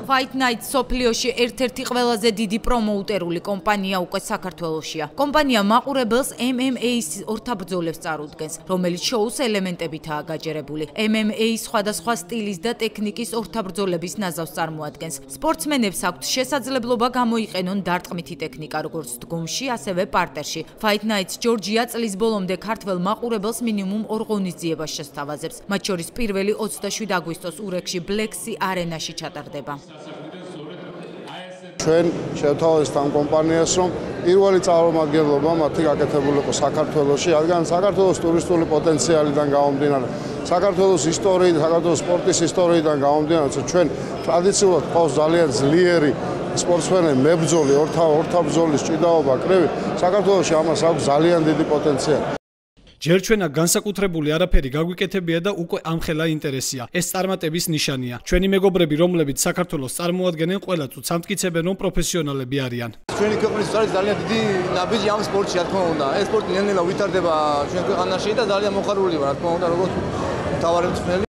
Fight Night სოფლიოში ერთ-ერთი ყველაზე დიდი პრომოუტერული კომპანია უკვე საქართველოშია. კომპანია მაყურებელს MMA-ის ორთაბრძოლებს წარუდგენს, რომელიც შოუს ელემენტებითაა გაჯერებული. MMA სხვადასხვა სტილის და ტექნიკის ორთაბრძოლების ნაზავს წარმოადგენს. სპორტსმენებს აქვთ შესაძლებლობა გამოიყენონ დარტყმითი ტექნიკა როგორც დგომში, ასევე პარტერში. Fight Night ჯორჯია წლის ბოლომდე ქართველ მაყურებელს მინიმუმ 2 ღონისძიებას შესთავაზებს. მათ შორის პირველი 27 აგვისტოს ურეკში ბლექსი არენაში ჩატარდება. ჩვენ შევთავაზეთ ამ კომპანიას, რომ პირველი წარმომადგენლობა მათი გაკეთებული იყო საქართველოში, რადგან საქართველოს ტურისტული პოტენციალიდან გამომდინარე, საქართველოს ისტორიით, საქართველოს სპორტის ისტორიიდან გამომდინარე, ჩვენ ტრადიციულად ყავს ძალიან ძლიერი სპორტსმენები, მებრძოლი, ორთაბრძოლის ჭიდაობა, კრივი. საქართველოში ამას აქვს ძალიან დიდი პოტენციალი. ჯერ ჩვენა განსაკუთრებული არაფერი გაგვიკეთებია და უკვე ამხელა ინტერესია. ეს წარმატების ნიშანია. ჩვენი მეგობრები, რომლებიც საქართველოს წარმოადგენენ, ყველა წუთს ამტკიცებენ, რომ პროფესიონალები არიან. ჩვენი ქვეყნის არის ძალიან დიდი ნაბიჯი ამ სპორტში, რა თქმა უნდა. ეს სპორტი ნელ-ნელა ვითარდება ჩვენ ქვეყანაში და ძალიან მოხარული ვარ, რა თქმა უნდა, როგორც მთავარი მწვრთნელი.